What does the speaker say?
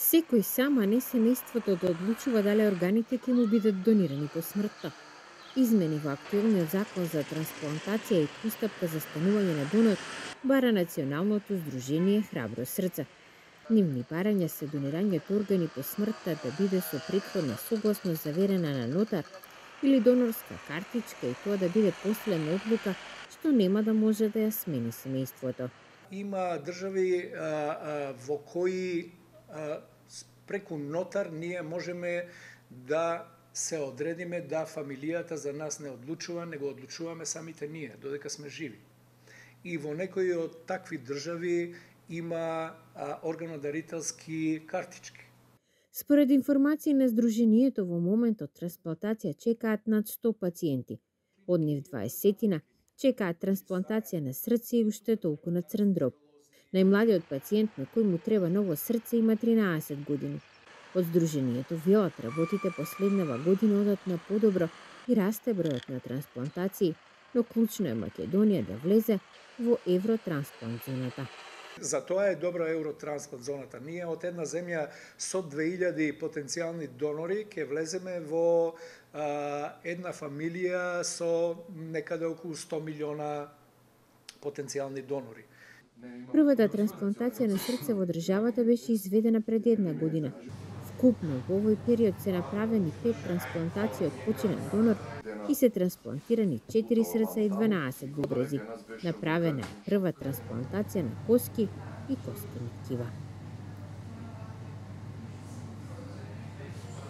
Секој сам, а не семејството да одлучува дали органите ќе му бидат донирани по смртта. Измени во актуелниот закон за трансплантација и постапка за станување на донор бара Националното здружение Храбро срце. Нивни барања се донирањето органи по смртта да биде со претходна согласност заверена на нотар или донорска картичка и тоа да биде последна одлука што нема да може да ја смени семејството. Има држави во кои преку нотар ние можеме да се одредиме да фамилијата за нас не одлучува, него одлучуваме самите ние, додека сме живи. И во некои од такви држави има органодарителски картички. Според информации на Сдруженијето, во моментот трансплантација чекаат над 100 пациенти. Од нив 20 чекаат трансплантација на срце и уште толку на црн дроб. Најмладиот пациент на кој му треба ново срце има 13 години. Од Сдруженијето велат работите последнава година одат на подобро и расте бројот на трансплантации, но клучно е Македонија да влезе во Евротрансплант зоната. За тоа е добра Евротрансплант зоната. Ние од една земја со 2000 потенцијални донори ќе влеземе во една фамилија со некаде околу 100 милиона потенцијални донори. Првата трансплантација на срце во државата беше изведена пред една година. Вкупно во овој период се направени 5 трансплантации од починат донор и се трансплантирани 4 срца и 12 бубрези. Направена е прва трансплантација на коски и костени ткива.